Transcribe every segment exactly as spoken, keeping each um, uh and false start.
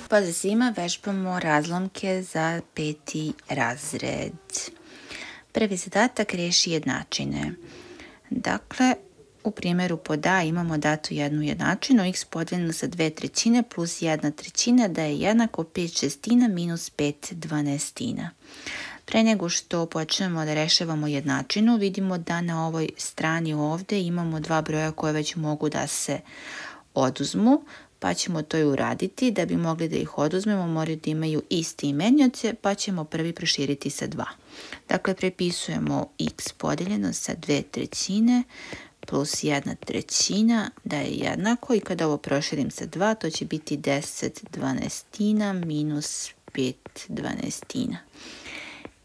Pozdrav svima, vežbamo razlomke za peti razred. Prvi zadatak riješi jednačine. Dakle, u primjeru pod A imamo datu jednu jednačinu, x podijeljeno sa dve trećine plus jedna trećina da je jednako pet šestina minus pet dvanaestina. Pre nego što počnemo da rešavamo jednačinu, vidimo da na ovoj strani ovdje imamo dva broja koje već mogu da se oduzmu, pa ćemo to i uraditi. Da bi mogli da ih oduzmemo, moraju da imaju isti imenioce, pa ćemo prvi proširiti sa dva. Dakle, prepisujemo x podijeljeno sa dve trećine plus jedna trećina da je jednako, i kada ovo proširim sa dva, to će biti deset dvanaestina minus pet dvanaestina.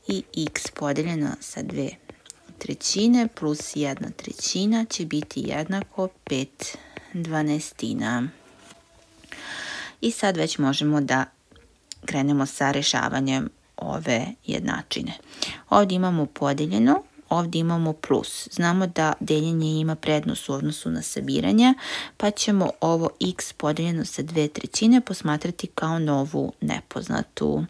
I x podijeljeno sa dve trećine plus jedna trećina će biti jednako pet dvanaestina. I sad već možemo da krenemo sa rešavanjem ove jednačine. Ovdje imamo podijeljeno, ovdje imamo plus. Znamo da deljenje ima prednost u odnosu na sabiranje, pa ćemo ovo x podijeljeno sa dve trećine posmatrati kao novu nepoznatu.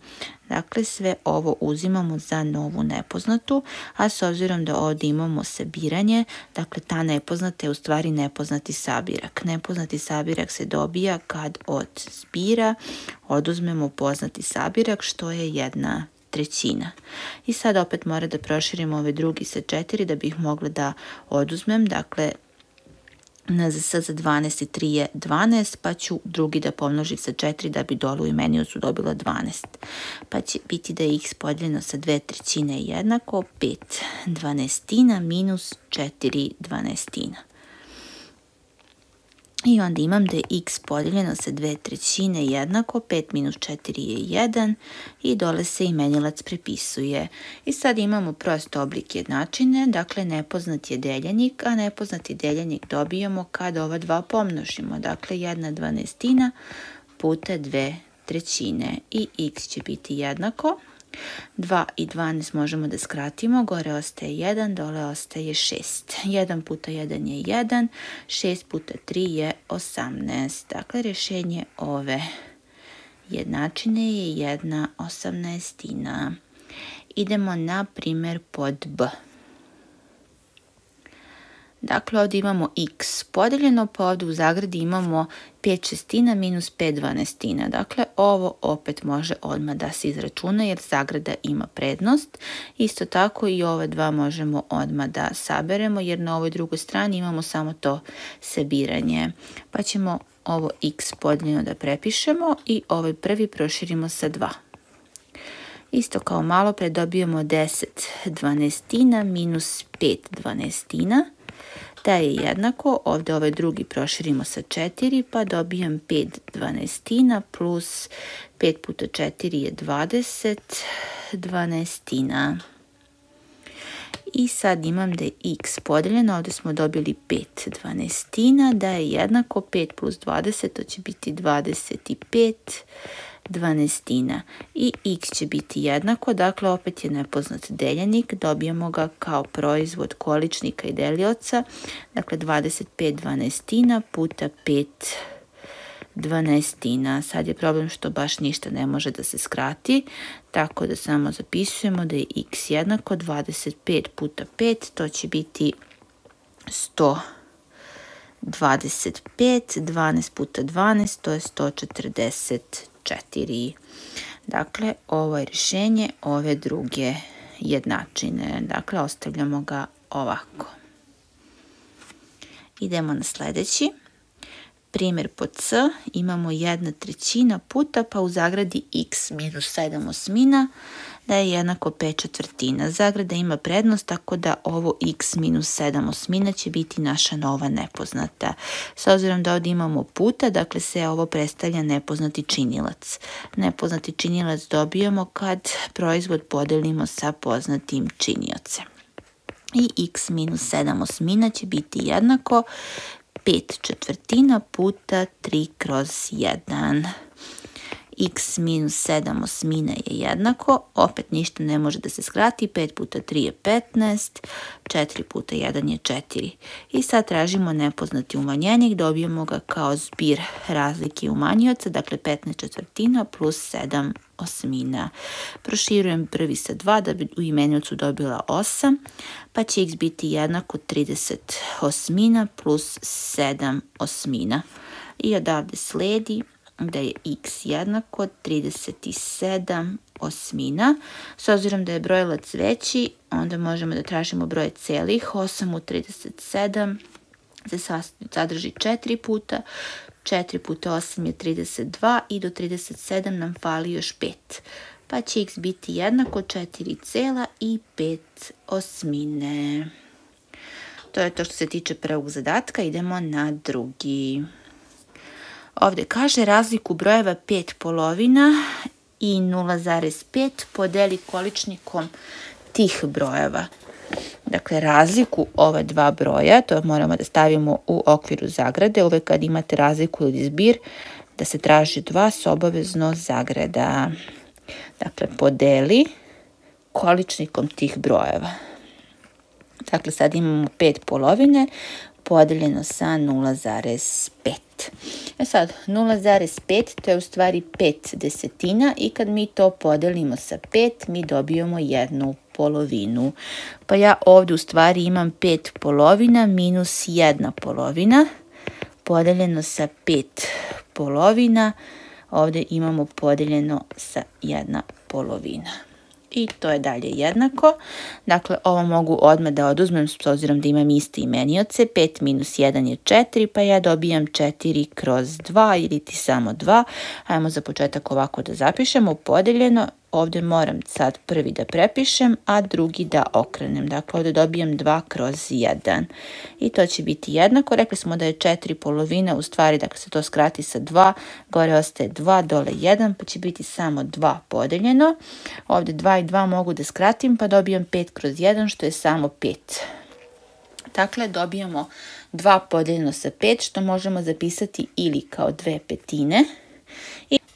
Dakle, sve ovo uzimamo za novu nepoznatu, a s obzirom da ovdje imamo sabiranje, dakle, ta nepoznata je u stvari nepoznati sabirak. Nepoznati sabirak se dobija kad od zbira oduzmemo poznati sabirak, što je jedna trećina. I sad opet mora da proširimo ove drugi sa četiri da bih mogla da oduzmem. Dakle, N Z S za dvanaest i tri je dvanaest, pa ću drugi da pomnožim sa četiri da bi dolu u imeniocu dobila dvanaest. Pa će biti da je x podijeljeno sa dve trećine jednako pet dvanaestina minus četiri dvanaestina. I onda imam da je x podijeljeno sa dve trećine jednako, pet minus četiri je jedan i dole se imenilac prepisuje. I sad imamo prost oblik jednačine, dakle nepoznat je deljenik, a nepoznati deljenik dobijamo kad ova dva pomnožimo. Dakle, jedna dvanaestina puta dve trećine i x će biti jednako. dva i dvanaest možemo da skratimo, gore ostaje jedan, dole ostaje šest. jedan puta jedan je jedan, šest puta tri je osamnaest. Dakle, rješenje ove jednačine je jedna osamnaestina. Idemo na primjer pod B. Dakle, ovdje imamo x podijeljeno, pa ovdje u zagradi imamo pet šestina minus pet dvanaestina. Dakle, ovo opet može odmah da se izračuna jer zagrada ima prednost. Isto tako i ove dva možemo odmah da saberemo jer na ovoj drugoj strani imamo samo to sabiranje. Pa ćemo ovo x podijeljeno da prepišemo i ovaj prvi proširimo sa dva. Isto kao malo pre dobijemo deset dvanaestina minus pet dvanaestina. Da je jednako, ovdje ovaj drugi proširimo sa četiri, pa dobijam pet dvanaestina plus pet puta četiri je dvadeset dvanaestina. I sad imam da je x podijeljeno, ovdje smo dobili pet dvanaestina, da je jednako pet plus dvadeset, to će biti dvadeset pet dvanaestina. I x će biti jednako, dakle opet je nepoznat deljenik, dobijamo ga kao proizvod količnika i delioca, dakle dvadeset pet dvanaestina puta pet dvanaestina. Sad je problem što baš ništa ne može da se skrati, tako da samo zapisujemo da je x jednako dvadeset pet puta pet, to će biti sto dvadeset pet, dvanaest puta dvanaest, to je sto četrdeset četiri. Dakle, ovo je rješenje ove druge jednačine. Dakle, ostavljamo ga ovako. Idemo na sljedeći. Primjer pod C. Imamo jedna trećina puta, pa u zagradi x minus sedam osmina, da je jednako pet četvrtina. Zagrada ima prednost, tako da ovo x minus sedam osmina će biti naša nova nepoznata. S obzirom da ovdje imamo puta, dakle se ovo predstavlja nepoznati činilac. Nepoznati činilac dobijamo kad proizvod podelimo sa poznatim činiocem. I x minus sedam osmina će biti jednako pet četvrtina puta tri kroz jedan. x minus sedam osmina je jednako, opet ništa ne može da se skrati, pet puta tri je petnaest, četiri puta jedan je četiri. I sad tražimo nepoznati umanjenik, dobijemo ga kao zbir razlike umanjioca, dakle petnaest četvrtina plus sedam osmina. Proširujem prvi sa dva da bi u imeniocu dobila osam, pa će x biti jednako trideset osmina plus sedam osmina. I odavde sledi da je x jednako trideset sedam osmina. S obzirom da je brojilac veći, onda možemo da tražimo broj celih. osam u trideset sedam se sadrži četiri puta. četiri puta osam je trideset dva i do trideset sedam nam fali još pet. Pa će x biti jednako četiri cela i pet osmine. To je to što se tiče prvog zadatka. Idemo na drugi. Ovdje kaže razliku brojeva pet polovina i nula zarez pet podeli količnikom tih brojeva. Dakle, razliku ova dva broja, to moramo da stavimo u okviru zagrade. Uvek kad imate razliku ili zbir, da se traži dva s obavezno zagrada. Dakle, podeli količnikom tih brojeva. Dakle, sad imamo pet polovine podeljeno sa nula zarez pet. E sad, nula zarez pet to je u stvari pet desetina i kad mi to podelimo sa pet, mi dobijemo jednu polovinu. Pa ja ovdje u stvari imam pet polovina minus jedna polovina podeljeno sa pet polovina. Ovdje imamo podeljeno sa jedna polovina. I to je dalje jednako. Dakle, ovo mogu odmah da oduzmem s obzirom da imam iste imenioce. pet minus jedan je četiri, pa ja dobijam četiri kroz dva ili ti samo dva. Hajmo za početak ovako da zapišemo. Podeljeno, ovdje moram sad prvi da prepišem, a drugi da okrenem. Dakle, ovdje dobijam dva kroz jedan. I to će biti jednako. Rekli smo da je četiri polovina, u stvari dakle se to skrati sa dva, gore ostaje dva, dole jedan, pa će biti samo dva podeljeno. Ovdje dva i dva mogu da skratim, pa dobijam pet kroz jedan, što je samo pet. Dakle, dobijamo dva podeljeno sa pet, što možemo zapisati ili kao dve petine,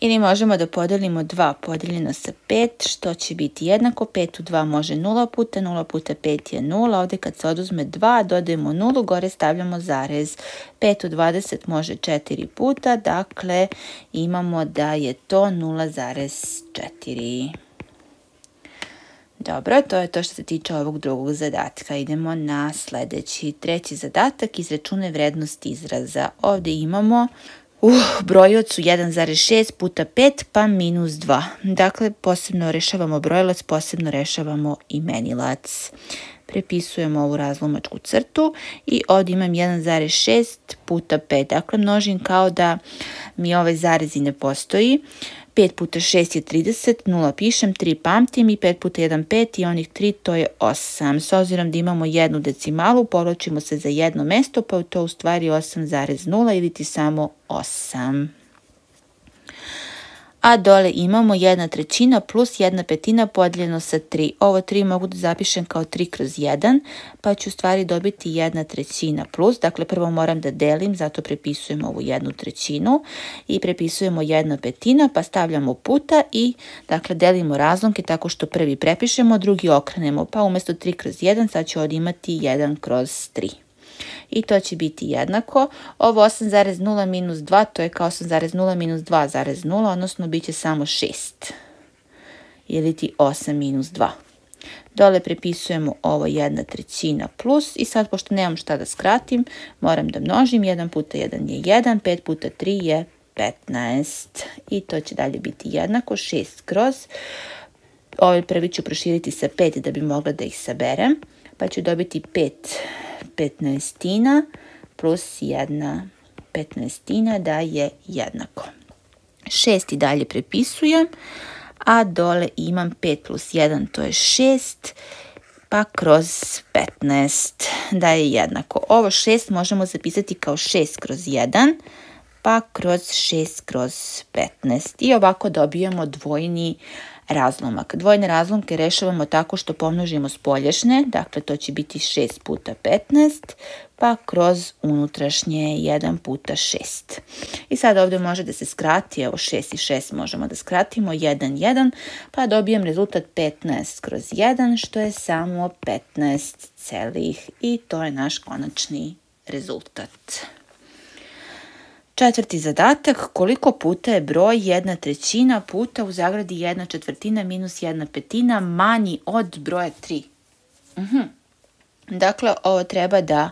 ili možemo da podelimo dva podeljeno sa pet, što će biti jednako. pet u dva može nula puta, nula puta pet je nula. Ovdje kad se oduzme dva, dodajemo nulu, gore stavljamo zarez. pet u dvadeset može četiri puta, dakle imamo da je to nula zarez četiri. Dobro, to je to što se tiče ovog drugog zadatka. Idemo na sljedeći, treći zadatak, izračunaj vrednost izraza. Ovdje imamo u brojiocu jedan zarez šest puta pet pa minus dva. Dakle, posebno rešavamo brojilac, posebno rešavamo imenilac. Prepisujemo ovu razlomačku crtu i ovdje imam jedan zarez šest puta pet. Dakle, množim kao da mi ovaj zarez i ne postoji. pet puta šest je trideset, nula pišem, tri pamtim i pet puta jedan pet i onih tri to je osam. S obzirom da imamo jednu decimalu, povlačimo se za jedno mesto, pa je to u stvari osam zarez nula ili ti samo osam. A dole imamo jedna trećina plus jedna petina podijeljeno sa tri. Ovo tri mogu da zapišem kao tri kroz jedan, pa ću u stvari dobiti jedna trećina plus. Dakle, prvo moram da delim, zato prepisujemo ovu jednu trećinu i prepisujemo jedna petina, pa stavljamo puta i dakle delimo razlomke tako što prvi prepišemo, drugi okrenemo. Pa umjesto tri kroz jedan sad ću ovdje imati jedan kroz tri. I to će biti jednako. Ovo osam zarez nula minus dva, to je kao osam zarez nula minus dva zarez nula, odnosno bit će samo šest. Ili ti osam minus dva. Dole prepisujemo ovo jedna trećina plus i sad pošto nemam šta da skratim, moram da množim. jedan puta jedan je jedan, pet puta tri je petnaest. I to će dalje biti jednako, šest kroz. Ovaj prvi ću proširiti sa pet da bi mogla da ih saberem. Pa ću dobiti pet petnaestina plus jedna petnaestina da je jednako. šest i dalje prepisujem, a dole imam pet plus jedan, to je šest, pa kroz petnaest da je jednako. Ovo šest možemo zapisati kao šest kroz jedan, pa kroz šest kroz petnaest. I ovako dobijemo dvojni razlomak. Dvojne razlomke rešavamo tako što pomnožimo spoljašnje, dakle to će biti šest puta petnaest, pa kroz unutrašnje jedan puta šest. I sad ovdje može da se skrati, evo šest i šest možemo da skratimo, jedan, jedan, pa dobijem rezultat petnaest kroz jedan, što je samo petnaest celih i to je naš konačni rezultat. Četvrti zadatak, koliko puta je broj jedna trećina puta u zagradi jedna četvrtina minus jedna petina manji od broja tri. Uhum. Dakle, ovo treba da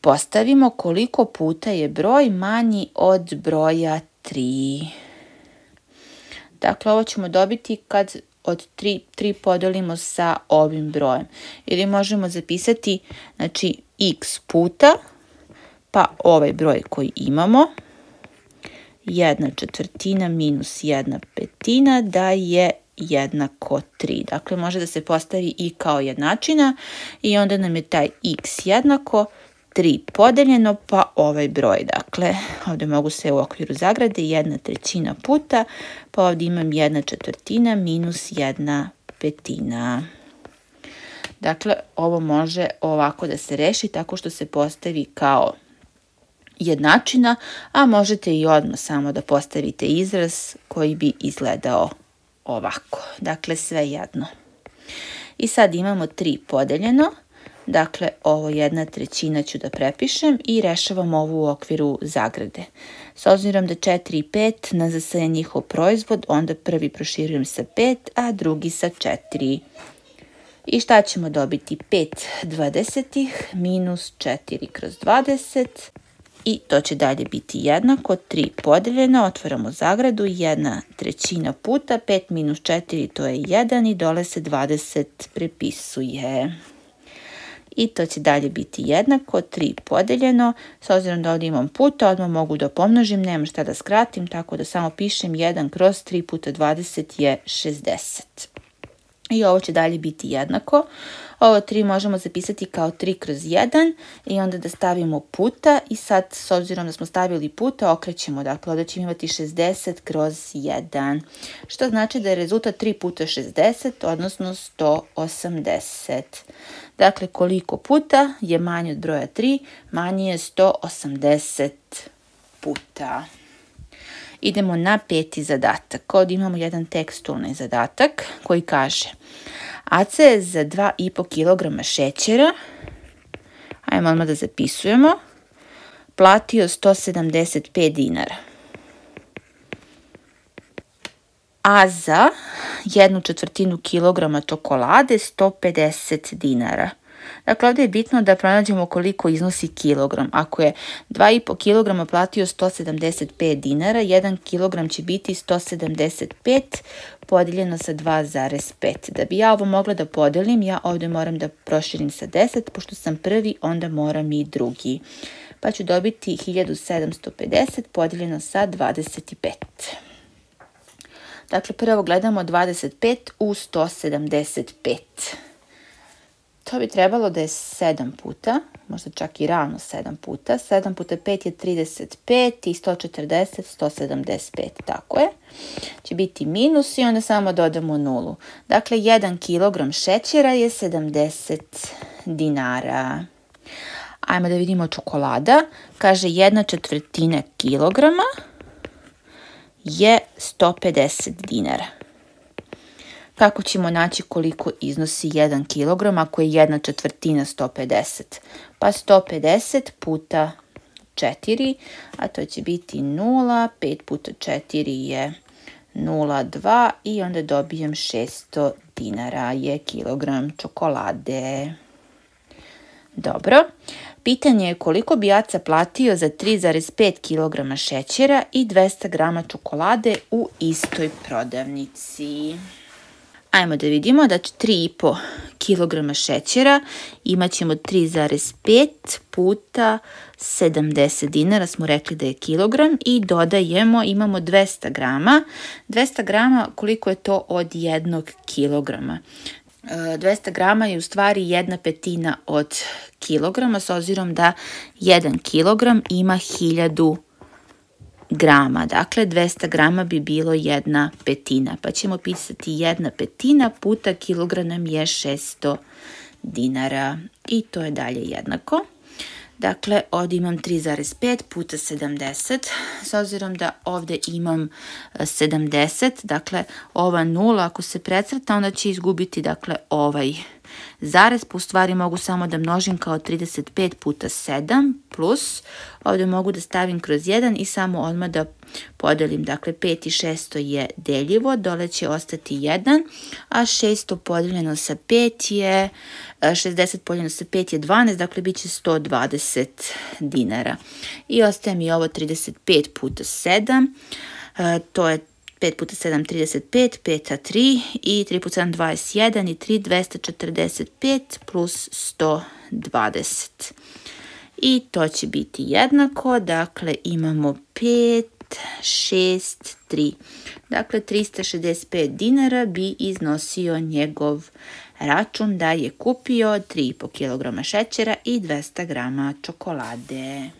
postavimo koliko puta je broj manji od broja tri. Dakle, ovo ćemo dobiti kad od tri, tri podelimo sa ovim brojem. Ili možemo zapisati, znači, x puta, pa ovaj broj koji imamo, jedna četvrtina minus jedna petina, da je jednako tri. Dakle, može da se postavi i kao jednačina i onda nam je taj x jednako tri podeljeno, pa ovaj broj. Dakle, ovdje mogu sve u okviru zagrade, jedna trećina puta, pa ovdje imam jedna četvrtina minus jedna petina. Dakle, ovo može ovako da se reši tako što se postavi kao jednačina, a možete i odmah samo da postavite izraz koji bi izgledao ovako. Dakle, sve jedno. I sad imamo tri podeljeno. Dakle, ovo jedna trećina ću da prepišem i rešavam ovo u okviru zagrade. S obzirom da četiri i pet nas je njihov proizvod, onda prvi proširujem sa pet, a drugi sa četiri. I šta ćemo dobiti? pet dvadesetih minus četiri kroz dvadeset. I to će dalje biti jednako, tri podeljeno, otvaramo zagradu, jedna trećina puta, pet minus četiri to je jedan i dole se dvadeset prepisuje. I to će dalje biti jednako, tri podeljeno, s obzirom da ovdje imam puta, odmah mogu da pomnožim, nema šta da skratim, tako da samo pišem jedan kroz tri puta dvadeset je šezdeset. I ovo će dalje biti jednako. Ovo tri možemo zapisati kao tri kroz jedan i onda da stavimo puta i sad s obzirom da smo stavili puta okrećemo. Dakle, ovdje ćemo imati šezdeset kroz jedan. Što znači da je rezultat tri puta šezdeset, odnosno sto osamdeset. Dakle, koliko puta je manje od broja tri? Manje je sto osamdeset puta. Idemo na peti zadatak. Ovdje imamo jedan tekstualni zadatak koji kaže: Aca je za dva i po kilograma šećera, ajmo odmah da zapisujemo, platio sto sedamdeset pet dinara. A za jednu četvrtinu kilograma čokolade sto pedeset dinara. Dakle, ovdje je bitno da pronađemo koliko iznosi kilogram. Ako je dva i po kilograma platio sto sedamdeset pet dinara, jedan kilogram će biti sto sedamdeset pet podijeljeno sa dva zarez pet. Da bi ja ovo mogla da podelim, ja ovdje moram da proširim sa deset, pošto sam prvi, onda moram i drugi. Pa ću dobiti hiljadu sedamsto pedeset podijeljeno sa dvadeset pet. Dakle, prvo gledamo dvadeset pet u sto sedamdeset pet. To bi trebalo da je sedam puta, možda čak i ravno sedam puta. sedam puta pet je trideset pet i sto četrdeset, sto sedamdeset pet, tako je. Će biti minus i onda samo dodamo nulu. Dakle, jedan kilogram šećera je sedamdeset dinara. Ajmo da vidimo čokolada. Kaže, jedna četvrtina kilograma je sto pedeset dinara. Kako ćemo naći koliko iznosi jedan kilogram ako je jedna četvrtina sto pedeset? Pa sto pedeset puta četiri, a to će biti nula, pet puta četiri je nula zarez dva i onda dobijem šesto dinara je kilogram čokolade. Dobro. Pitanje je koliko bi Aca platio za tri zarez pet kilograma šećera i dvesta grama čokolade u istoj prodavnici. Ajmo da vidimo da će tri i po kilograma šećera imat ćemo tri zarez pet puta sedamdeset dinara, smo rekli da je kilogram, i dodajemo, imamo dvesta grama. dvesta grama, koliko je to od jednog kilograma? dvesta grama je u stvari jedna petina od kilograma, s obzirom da jedan kilogram ima hiljadu grama. Dakle, dvesta grama bi bilo jedna petina. Pa ćemo pisati jedna petina puta kilogram nam je šesto dinara. I to je dalje jednako. Dakle, ovdje imam tri zarez pet puta sedamdeset. S obzirom da ovdje imam sedamdeset, dakle, ova nula ako se precrta, onda će izgubiti, dakle, ovaj zarez. Po stvari mogu samo da množim kao trideset pet puta sedam plus, ovdje mogu da stavim kroz jedan i samo odmah da podelim. Dakle, pet i šesto je deljivo, dole će ostati jedan, a šesto podeljeno sa pet je, šezdeset podeljeno sa pet je dvanaest, dakle, bit će sto dvadeset dinara. I ostaje mi ovo trideset pet puta sedam, to je pet puta sedam, trideset pet, pet a tri i tri puta sedam, dvadeset jedan i tri, dvesta četrdeset pet plus sto dvadeset. I to će biti jednako, dakle imamo pet, šest, tri. Dakle, trista šezdeset pet dinara bi iznosio njegov račun da je kupio tri i po kilograma šećera i dvesta grama čokolade.